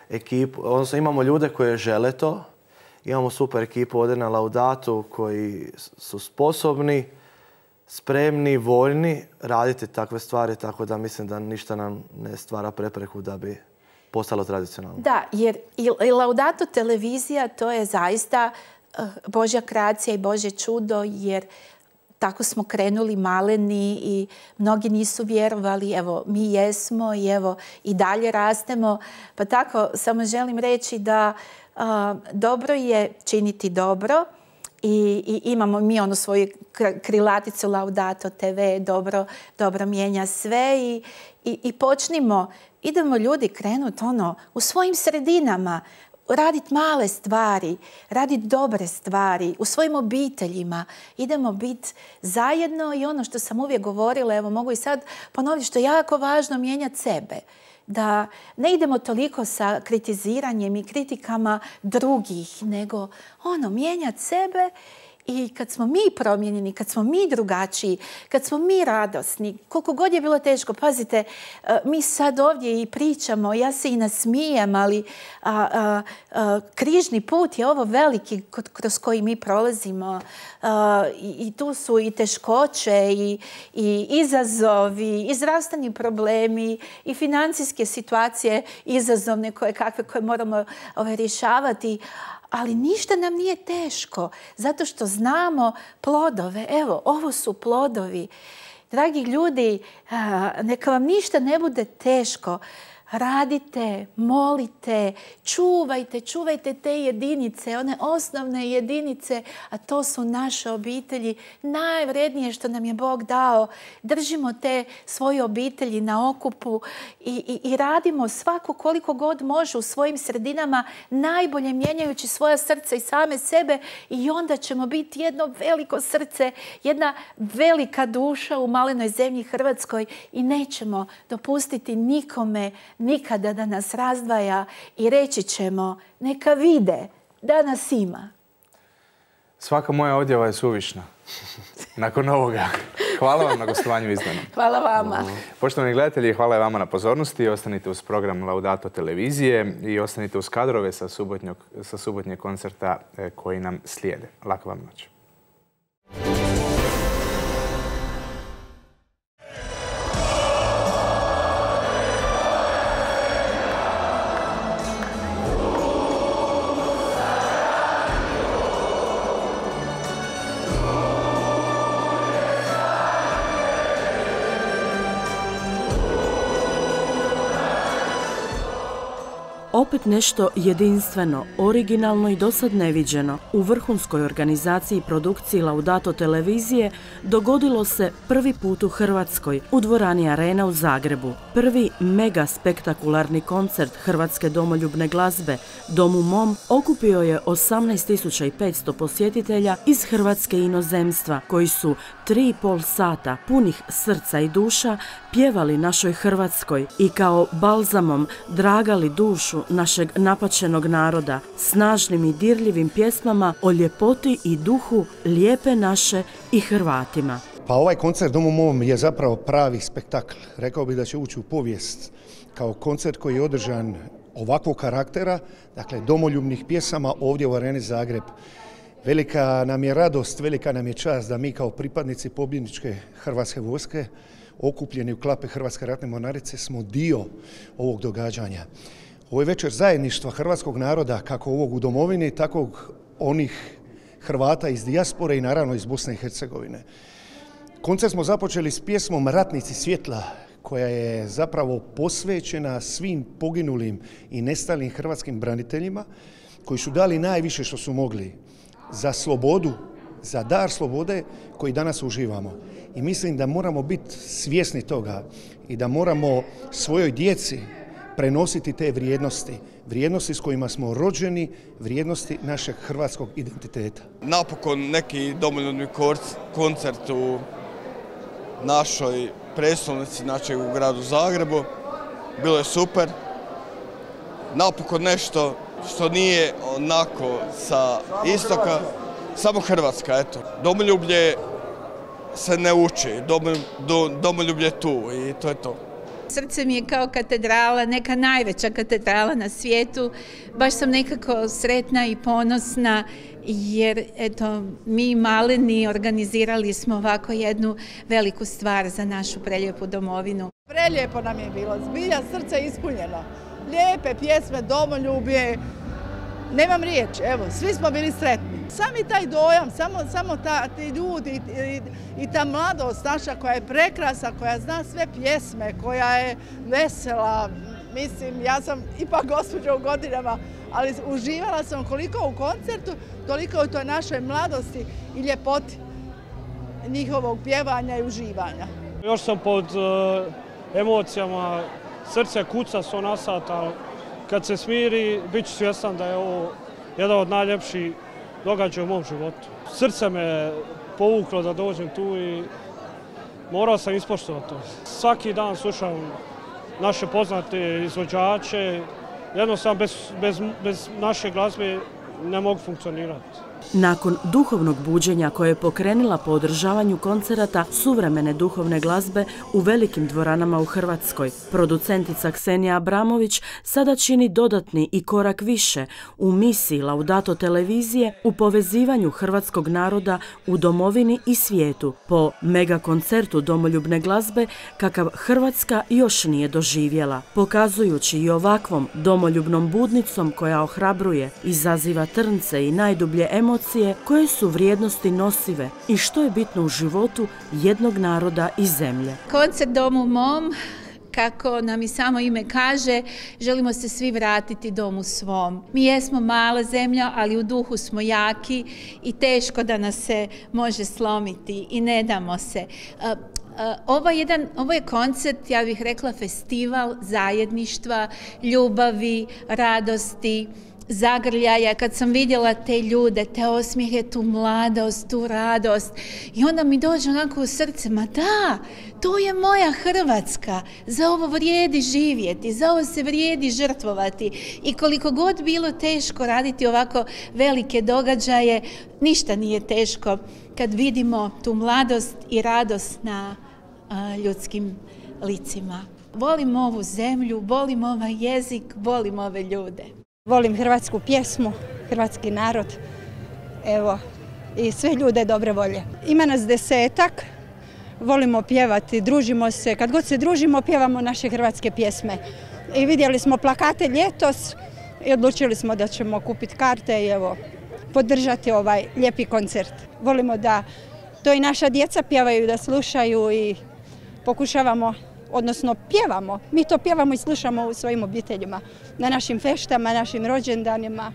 ekipu, odnosno imamo ljude koji žele to. Imamo super ekipu ovdje na Laudatu koji su sposobni, spremni, voljni raditi takve stvari, tako da mislim da ništa nam ne stvara prepreku da bi postalo tradicionalno. Da, jer i Laudato televizija to je zaista Božja kreacija i Božje čudo, jer tako smo krenuli maleni i mnogi nisu vjerovali. Evo, mi jesmo i evo i dalje rastemo. Pa tako samo želim reći da dobro je činiti dobro i imamo mi onu svoju krilaticu Laudato TV, dobro mijenja sve i počnimo, idemo ljudi krenuti u svojim sredinama, raditi male stvari, raditi dobre stvari, u svojim obiteljima. Idemo biti zajedno i ono što sam uvijek govorila, evo mogu i sad ponoviti, što je jako važno, mijenjati sebe. Da ne idemo toliko sa kritiziranjem i kritikama drugih, nego mijenjati sebe I kad smo mi promijenjeni, kad smo mi drugačiji, kad smo mi radosni, koliko god je bilo teško, pazite, mi sad ovdje i pričamo, ja se i nasmijem, ali križni put je ovo veliki kroz koji mi prolazimo. I tu su i teškoće, i izazovi, i zdravstveni problemi, i financijske situacije izazovne koje moramo rješavati. Ali ništa nam nije teško, zato što znamo plodove. Evo, ovo su plodovi. Dragi ljudi, neka vam ništa ne bude teško. Radite, molite, čuvajte te jedinice, one osnovne jedinice, a to su naše obitelji, najvrednije što nam je Bog dao. Držimo te svoje obitelji na okupu i radimo svako koliko god može u svojim sredinama, najbolje mijenjajući svoja srca i same sebe, i onda ćemo biti jedno veliko srce, jedna velika duša u malenoj zemlji Hrvatskoj i nećemo dopustiti nikome nikada da nas razdvaja i reći ćemo neka vide da nas ima. Svaka moja odjava je suvišna. Nakon ovoga. Hvala vam na gostovanju Izdanom. Hvala vama. Poštovani gledatelji, hvala vama na pozornosti. Ostanite uz program Laudato televizije i ostanite uz kadrove sa subotnjeg koncerta koji nam slijede. Laka vam noć. Opet nešto jedinstveno, originalno i dosad neviđeno u vrhunskoj organizaciji i produkciji Laudato televizije dogodilo se prvi put u Hrvatskoj u dvorani Arena u Zagrebu. Prvi mega spektakularni koncert hrvatske domoljubne glazbe Dom u mom okupio je 18.500 posjetitelja iz Hrvatske i inozemstva koji su 3,5 sata punih srca i duša pjevali našoj Hrvatskoj i kao balzamom dragali dušu našeg napačenog naroda snažnim i dirljivim pjesmama o ljepoti i duhu lijepe naše i Hrvatima. Pa ovaj koncert Dom u mom je zapravo pravi spektakl. Rekao bih da će ući u povijest kao koncert koji je održan ovakvog karaktera, dakle domoljubnih pjesama ovdje u Areni Zagreb. Velika nam je radost, velika nam je čast da mi kao pripadnici pobjedničke Hrvatske vojske okupljeni u klape Hrvatske ratne mornarice smo dio ovog događanja. Ovo je večer zajedništva hrvatskog naroda, kako ovog u domovini, tako onih Hrvata iz dijaspore i naravno iz Bosne i Hercegovine. Koncert smo započeli s pjesmom Ratnici svjetla, koja je zapravo posvećena svim poginulim i nestalim hrvatskim braniteljima koji su dali najviše što su mogli za slobodu, za dar slobode koji danas uživamo. I mislim da moramo biti svjesni toga i da moramo svojoj djeci prenositi te vrijednosti s kojima smo rođeni, vrijednosti našeg hrvatskog identiteta. Napokon neki domoljubni koncert u našoj prijestolnici, znači u gradu Zagrebu. Bilo je super. Napokon nešto što nije onako sa istoka, samo Hrvatska, eto. Domoljublje se ne uči, domoljublje je tu i to je to. Srce mi je kao katedrala, neka najveća katedrala na svijetu. Baš sam nekako sretna i ponosna jer eto, mi maleni organizirali smo ovako jednu veliku stvar za našu prelijepu domovinu. Prelijepo nam je bilo, zbilja srce ispunjeno. Lijepe pjesme, domoljublje, nemam riječi, evo, svi smo bili sretni. Sami taj dojam, samo ti ljudi i ta mladost naša koja je prekrasna, koja zna sve pjesme, koja je vesela. Mislim, ja sam ipak gospođa u godinama, ali uživala sam koliko u koncertu, toliko u toj našoj mladosti i ljepoti njihovog pjevanja i uživanja. Još sam pod emocijama, srce kuca 100 na sat, ali kad se smiri, bit ću svjestan da je ovo jedan od najljepših događaja u mom životu. Srce me povuklo da dođem tu i morao sam ispoštovati to. Svaki dan slušam naše poznate izvođače, jednostavno bez naše glazbe ne mogu funkcionirati. Nakon duhovnog buđenja koje je pokrenula po održavanju koncerata suvremene duhovne glazbe u velikim dvoranama u Hrvatskoj, producentica Ksenija Abramović sada čini dodatni i korak više u misiji Laudato televizije u povezivanju hrvatskog naroda u domovini i svijetu po mega koncertu domoljubne glazbe kakav Hrvatska još nije doživjela, pokazujući i ovakvom domoljubnom budnicom koja ohrabruje, izaziva trnce i najdublje emocije koje su vrijednosti nosive i što je bitno u životu jednog naroda i zemlje. Koncert Domu mom, kako nam i samo ime kaže, želimo se svi vratiti domu svom. Mi jesmo mala zemlja, ali u duhu smo jaki i teško da nas se može slomiti i ne damo se. Ovo je koncert, ja bih rekla, festival zajedništva, ljubavi, radosti, zagrljaja. Kad sam vidjela te ljude, te osmijehe, tu mladost, tu radost, i onda mi dođe onako u srce, ma da, to je moja Hrvatska, za ovo vrijedi živjeti, za ovo se vrijedi žrtvovati. I koliko god bilo teško raditi ovako velike događaje, ništa nije teško kad vidimo tu mladost i radost na ljudskim licima. Volim ovu zemlju, volim ovaj jezik, volim ove ljude. Volim hrvatsku pjesmu, hrvatski narod, evo, i sve ljude dobre volje. Ima nas 10-ak, volimo pjevati, družimo se, kad god se družimo pjevamo naše hrvatske pjesme. I vidjeli smo plakate ljetos i odlučili smo da ćemo kupiti karte i evo, podržati ovaj lijepi koncert. Volimo da to i naša djeca pjevaju, da slušaju i pokušavamo, odnosno pjevamo. Mi to pjevamo i slušamo u svojim obiteljima, na našim feštama, našim rođendanima.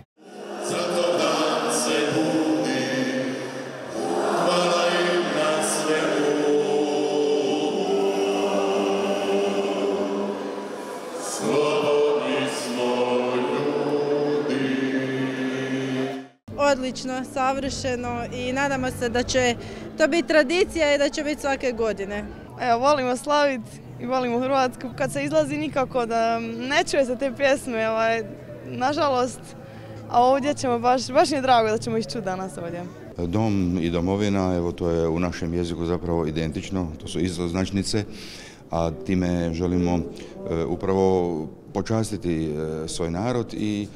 Odlično, savršeno i nadamo se da će to biti tradicija i da će biti svake godine. Evo, volimo slaviti i volimo Hrvatsku. Kad se izlazi nikako da ne čuje se te pjesme, nažalost, a ovdje ćemo baš mi je drago da ćemo ih čuti danas ovdje. Dom i domovina, evo to je u našem jeziku zapravo identično, to su istoznačnice, a time želimo upravo počastiti svoj narod i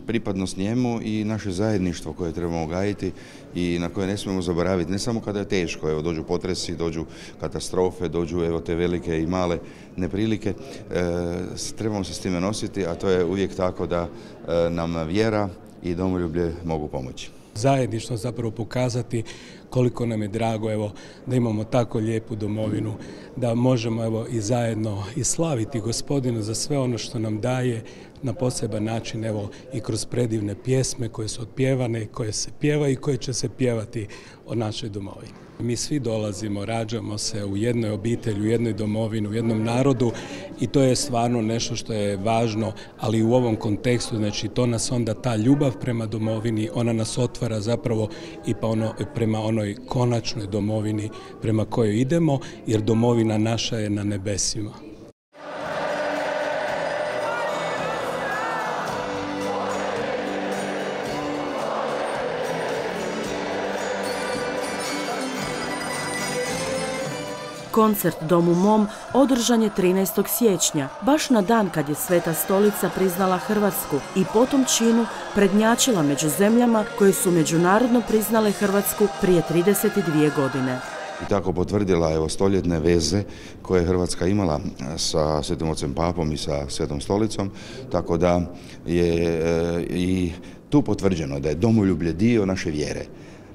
pripadnost njemu i naše zajedništvo koje trebamo gajiti i na koje ne smijemo zaboraviti, ne samo kada je teško, evo dođu potresi, dođu katastrofe, dođu evo te velike i male neprilike, trebamo se s time nositi, a to je uvijek tako da nam vjera i domoljublje mogu pomoći. Zajedništvo zapravo pokazati koliko nam je drago da imamo tako lijepu domovinu, da možemo i zajedno i slaviti Gospodina za sve ono što nam daje na poseban način i kroz predivne pjesme koje su otpjevane, koje se pjevaju i koje će se pjevati o našoj domovini. Mi svi dolazimo, rađamo se u jednoj obitelji, u jednoj domovini, u jednom narodu i to je stvarno nešto što je važno, ali u ovom kontekstu, znači to nas onda ta ljubav prema domovini, ona nas otvara zapravo i prema onoj konačnoj domovini prema kojoj idemo, jer domovina naša je na nebesima. Koncert Domu mom održan je 13. siječnja, baš na dan kad je Sveta Stolica priznala Hrvatsku i po tom činu prednjačila među zemljama koje su međunarodno priznale Hrvatsku prije 32 godine. I tako potvrdila stoljetne veze koje je Hrvatska imala sa Svetim Ocem Papom i sa Svetom Stolicom, tako da je i tu potvrđeno da je domoljublje dio naše vjere.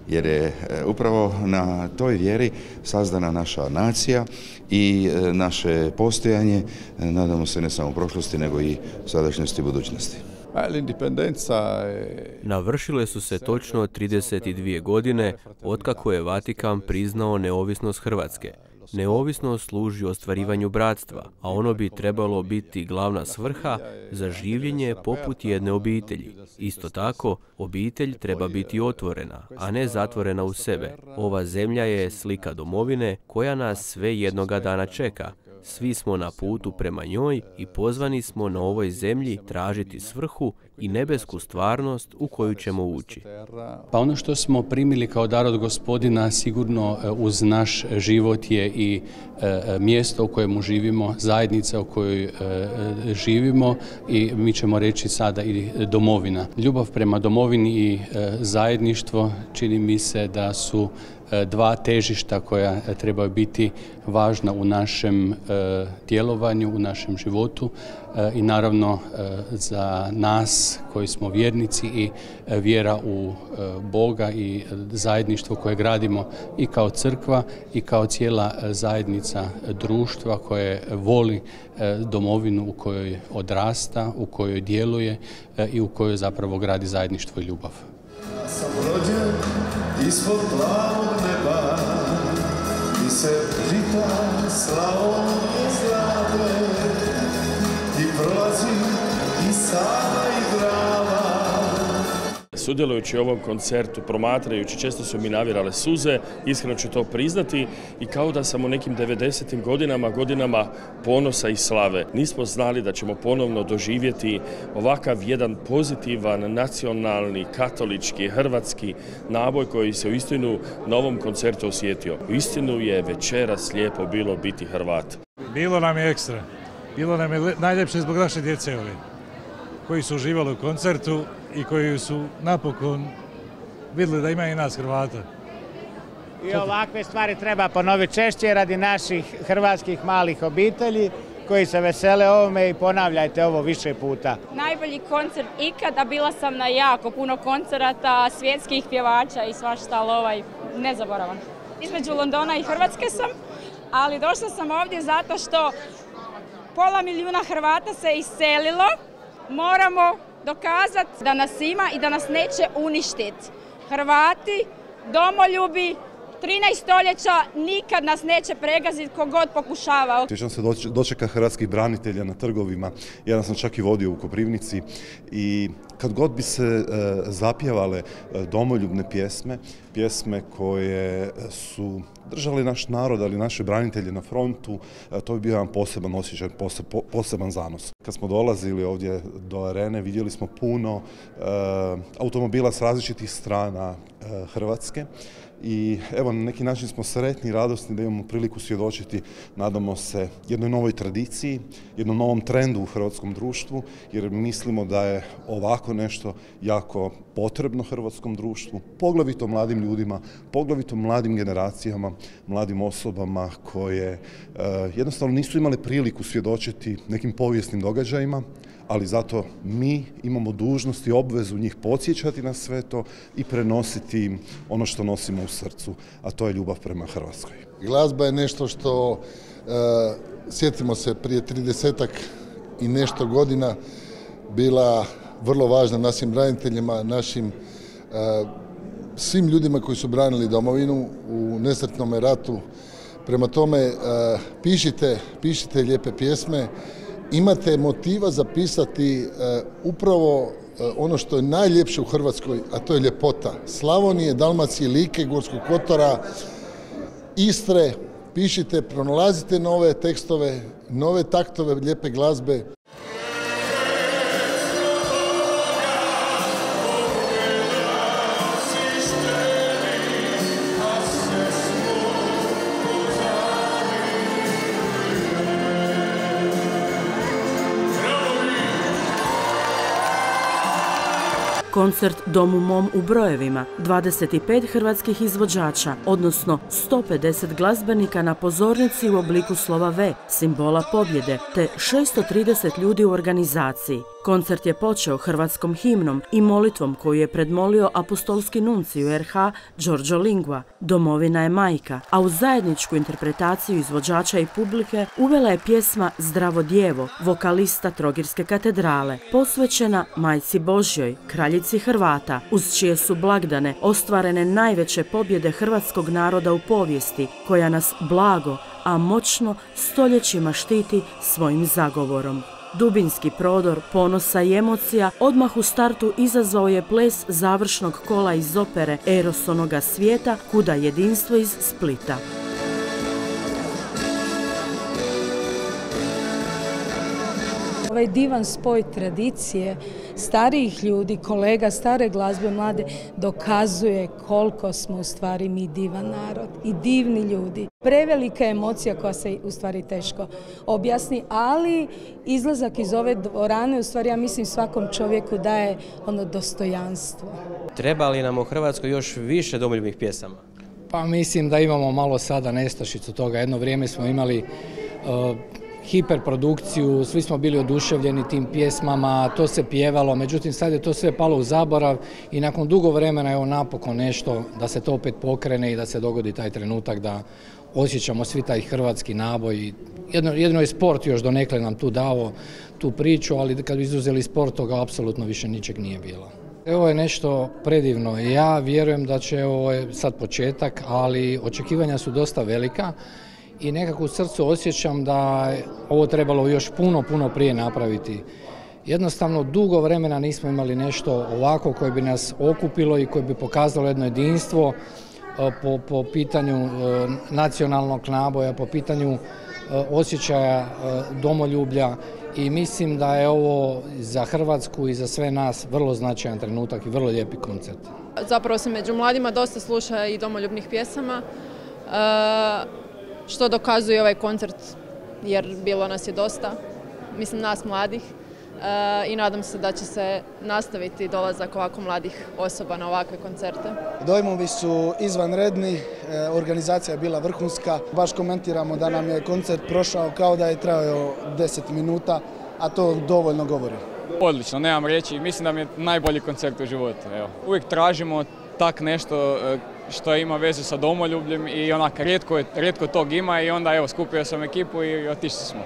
Jer je upravo na toj vjeri sazdana naša nacija i naše postojanje, nadamo se ne samo prošlosti, nego i sadašnjosti i budućnosti. Navršile su se točno 32 godine otkako je Vatikan priznao neovisnost Hrvatske. Neovisnost služi ostvarivanju bratstva, a ono bi trebalo biti glavna svrha za življenje poput jedne obitelji. Isto tako, obitelj treba biti otvorena, a ne zatvorena u sebe. Ova zemlja je slika domovine koja nas sve jednoga dana čeka. Svi smo na putu prema njoj i pozvani smo na ovoj zemlji tražiti svrhu i nebesku stvarnost u koju ćemo ući. Pa ono što smo primili kao dar od Gospodina sigurno uz naš život je i mjesto u kojemu živimo, zajednica u kojoj živimo i mi ćemo reći sada i domovina. Ljubav prema domovini i zajedništvo čini mi se da su dva težišta koja trebaju biti važna u našem djelovanju, u našem životu i naravno za nas koji smo vjernici i vjera u Boga i zajedništvo koje gradimo i kao crkva i kao cijela zajednica društva koje voli domovinu u kojoj odrasta, u kojoj djeluje i u kojoj zapravo gradi zajedništvo i ljubav. Sam rođen ispod plavog neba i se žita Slavonije zlate i prolazi i Sava i Drava. Sudjelujući u ovom koncertu, promatrajući, često su mi navirale suze, iskreno ću to priznati, i kao da sam u nekim 90. godinama ponosa i slave. Nismo znali da ćemo ponovno doživjeti ovakav jedan pozitivan, nacionalni, katolički, hrvatski naboj koji se uistinu na ovom koncertu osjetio. Uistinu je večeras lijepo bilo biti Hrvat. Bilo nam je ekstra. Bilo nam je najljepše zbog naše djece ove, koji su uživali u koncertu i koji su napokon vidjeli da ima i nas Hrvata. I ovakve stvari treba ponoviti češće radi naših hrvatskih malih obitelji koji se vesele ovome i ponavljajte ovo više puta. Najbolji koncert ikada, bila sam na jako puno koncerata, svjetskih pjevača i svašta, ali nezaboravan. Između Londona i Hrvatske sam, ali došla sam ovdje zato što 500 000 Hrvata se iselilo. Moramo dokazati da nas ima i da nas neće uništiti. Hrvati, domoljubi, 13 stoljeća, nikad nas neće pregaziti ko god pokušava. Sjećam se dočeka hrvatskih branitelja na trgovima. Jedan sam čak i vodio u Koprivnici i kad god bi se zapjevale domoljubne pjesme koje su držali naš narod, ali naše branitelje na frontu, to bi bio jedan poseban osjećaj, poseban zanos. Kad smo dolazili ovdje do arene, vidjeli smo puno automobila s različitih strana Hrvatske. I evo, na neki način smo sretni i radosni da imamo priliku svjedočiti, nadamo se, jednoj novoj tradiciji, jednom novom trendu u hrvatskom društvu, jer mislimo da je ovako nešto jako potrebno hrvatskom društvu, poglavito mladim ljudima, poglavito mladim generacijama, mladim osobama koje jednostavno nisu imale priliku svjedočiti nekim povijesnim događajima, ali zato mi imamo dužnost i obvezu njih podsjećati na sve to i prenositi im ono što nosimo u srcu, a to je ljubav prema Hrvatskoj. Glazba je nešto što, sjetimo se, prije 30-ak i nešto godina bila vrlo važna našim braniteljima, našim svim ljudima koji su branili domovinu u nesretnom ratu. Prema tome, pišite lijepe pjesme, imate motiva zapisati upravo ono što je najljepše u Hrvatskoj, a to je ljepota Slavonije, Dalmacije, Like, Gorskog kotara, Istre. Pišite, pronalazite nove tekstove, nove taktove lijepe glazbe. Koncert Dom u mom u brojevima, 25 hrvatskih izvođača, odnosno 150 glazbenika na pozornici u obliku slova V, simbola pobjede, te 630 ljudi u organizaciji. Koncert je počeo hrvatskom himnom i molitvom koju je predmolio apostolski nuncij u RH Giorgio Lingua. Domovina je majka, a u zajedničku interpretaciju izvođača i publike uvela je pjesma Zdravo djevo, vokalista Trogirske katedrale, posvećena Majci Božjoj, kraljici Hrvata, uz čije su blagdane ostvarene najveće pobjede hrvatskog naroda u povijesti, koja nas blago, a moćno stoljećima štiti svojim zagovorom. Dubinski prodor ponosa i emocija odmah u startu izazvao je ples završnog kola iz opere Eros onoga svijeta, Kuda jedinstvo iz Splita. ovaj divan spoj tradicije starijih ljudi, kolega, stare glazbe, mlade, dokazuje koliko smo u stvari mi divan narod i divni ljudi. Prevelika emocija koja se u stvari teško objasni, ali izlazak iz ove dvorane u stvari ja mislim svakom čovjeku daje ono dostojanstvo. Treba li nam u Hrvatskoj još više domoljubnih pjesama? Pa mislim da imamo malo sada nestašicu toga. Jedno vrijeme smo imali hiperprodukciju, svi smo bili oduševljeni tim pjesmama, to se pjevalo, međutim sad je to sve palo u zaborav i nakon dugo vremena evo napokon nešto da se to opet pokrene i da se dogodi taj trenutak da osjećamo svi taj hrvatski naboj. Jedno je sport još donekle nam tu dao tu priču, ali kad bi izuzeli sport toga apsolutno više ničeg nije bilo. Ovo je nešto predivno. Ja vjerujem da će, ovo je sad početak, ali očekivanja su dosta velika i nekako u srcu osjećam da ovo trebalo još puno prije napraviti. Jednostavno, dugo vremena nismo imali nešto ovako koje bi nas okupilo i koje bi pokazalo jedno jedinstvo po pitanju nacionalnog naboja, po pitanju osjećaja domoljublja i mislim da je ovo za Hrvatsku i za sve nas vrlo značajan trenutak i vrlo lijepi koncert. Zapravo se među mladima dosta sluša i domoljubnih pjesama, što dokazuje ovaj koncert jer bilo nas je dosta, mislim nas mladih i nadam se da će se nastaviti dolazak ovako mladih osoba na ovakve koncerte. Dojmovi su izvanredni, organizacija je bila vrhunska, baš komentiramo da nam je koncert prošao kao da je trajao 10 minuta, a to dovoljno govori. Odlično, nemam riječi, mislim da mi je najbolji koncert u životu. Evo. Uvijek tražimo tak nešto što ima vezu sa domoljubljem i onak rijetko tog ima i onda evo skupio sam ekipu i otišli smo.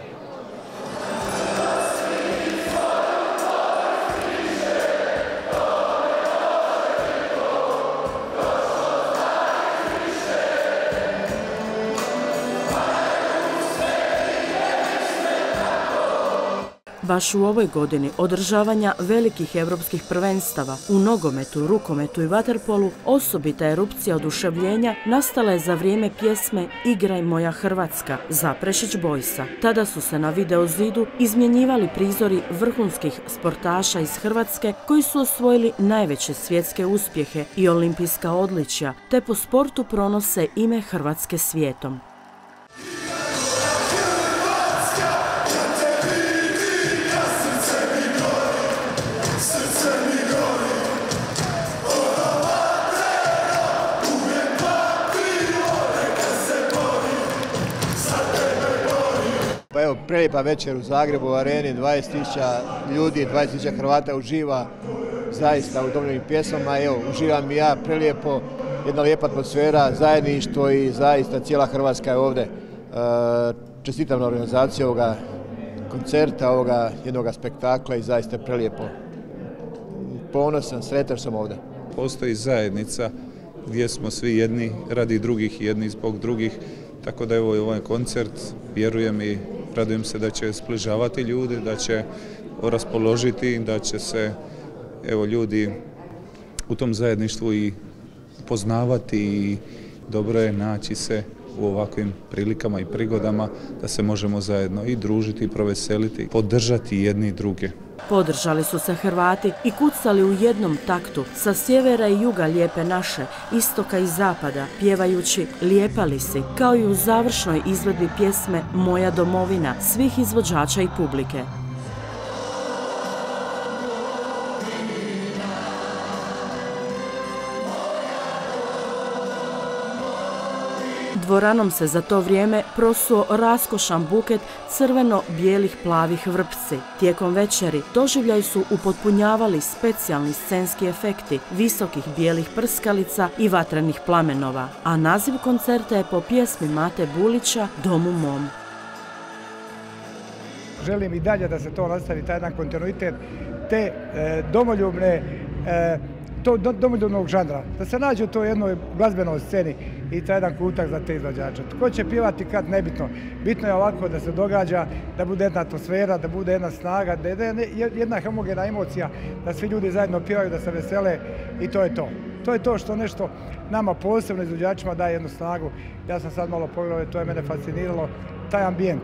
Baš u ovoj godini održavanja velikih evropskih prvenstava u nogometu, rukometu i vaterpolu osobita erupcija oduševljenja nastala je za vrijeme pjesme Igraj moja Hrvatska Zaprešić Boysa. Tada su se na video zidu izmjenjivali prizori vrhunskih sportaša iz Hrvatske koji su osvojili najveće svjetske uspjehe i olimpijska odličja, te po sportu pronose ime Hrvatske svijetom. Pa evo, prelijepa večer u Zagrebu u areni, 20.000 ljudi, 20.000 Hrvata uživa zaista u domoljubnim pjesmama. Evo, uživam i ja, prelijepo, jedna lijepa atmosfera, zajedništvo i zaista cijela Hrvatska je ovdje. Čestitam na organizaciju ovoga koncerta, ovoga jednoga spektakla i zaista je prelijepo. Ponosan, sretan sam ovdje. Postoji zajednica gdje smo svi jedni radi drugih i jedni zbog drugih, tako da evo ovaj koncert, vjerujem i radujem se da će sbližavati ljude, da će raspoložiti, da će se evo ljudi u tom zajedništvu i poznavati i dobro je naći se u ovakvim prilikama i prigodama da se možemo zajedno i družiti i proveseliti, podržati jedni i druge. Podržali su se Hrvati i kucali u jednom taktu sa sjevera i juga Lijepe naše, istoka i zapada, pjevajući Lijepa li si, kao i u završnoj izvedbi pjesme Moja domovina svih izvođača i publike. Dvoranom se za to vrijeme prosuo raskošan buket crveno-bijelih plavih vrpci. Tijekom večeri doživljaj su upotpunjavali specijalni scenski efekti visokih bijelih prskalica i vatrenih plamenova, a naziv koncerta je po pjesmi Mate Bulića Domu mom. Želim i dalje da se to nastavi, taj jedan kontinuitet te domoljubnog žanra, da se nađe u toj jednoj glazbenoj sceni i taj jedan kutak za te izvođače. Tko će pjevati kad, nebitno. Bitno je ovako da se događa, da bude jedna atmosfera, da bude jedna snaga, da je jedna homogena emocija, da svi ljudi zajedno pjevaju, da se vesele i to je to. To je to što nešto nama posebno izvođačima daje jednu snagu. Ja sam sad malo pogledao, to je mene fasciniralo, taj ambijent,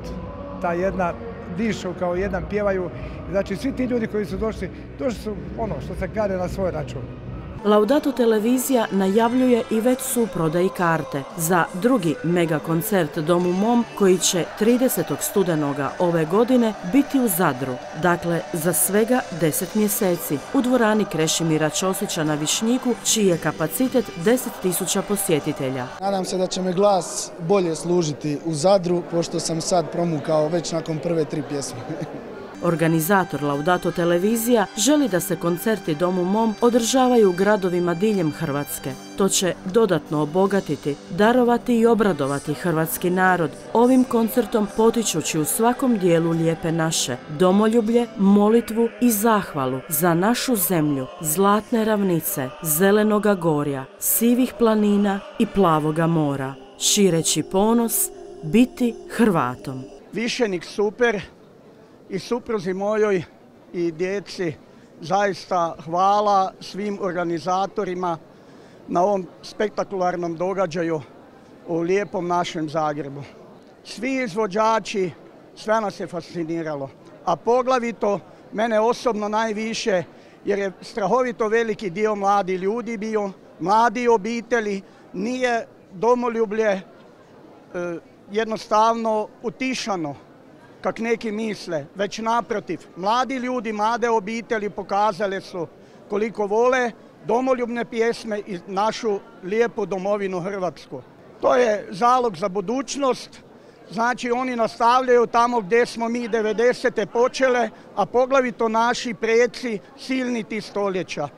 ta jedna dišu kao jedan, pjevaju. Znači svi ti ljudi koji su došli su ono što se kaže na svoj račun. Laudato televizija najavljuje i već su u prodaji karte za drugi mega koncert Dom u mom koji će 30. studenoga ove godine biti u Zadru, dakle za svega 10 mjeseci u dvorani Krešimira Ćosića na Višnjiku, čiji je kapacitet 10.000 posjetitelja. Nadam se da će me glas bolje služiti u Zadru, pošto sam sad promukao već nakon prve 3 pjesme. Organizator Laudato televizija želi da se koncerti Dom u mom održavaju u gradovima diljem Hrvatske. To će dodatno obogatiti, darovati i obradovati hrvatski narod, ovim koncertom potičući u svakom dijelu Lijepe naše domoljublje, molitvu i zahvalu za našu zemlju, zlatne ravnice, zelenoga gorja, sivih planina i plavoga mora, šireći ponos biti Hrvatom. Višenik super. I supruzi mojoj i djeci zaista hvala svim organizatorima na ovom spektakularnom događaju u lijepom našem Zagrebu. Svi izvođači, sve nas je fasciniralo, a poglavito mene osobno najviše jer je strahovito veliki dio mladi ljudi bio, mladi obitelji, nije domoljublje jednostavno utišano, kak neki misle, već naprotiv. Mladi ljudi, mlade obitelji pokazale su koliko vole domoljubne pjesme i našu lijepu domovinu Hrvatsku. To je zalog za budućnost, znači oni nastavljaju tamo gdje smo mi 90. počele, a poglavito naši preci silni tih stoljeća.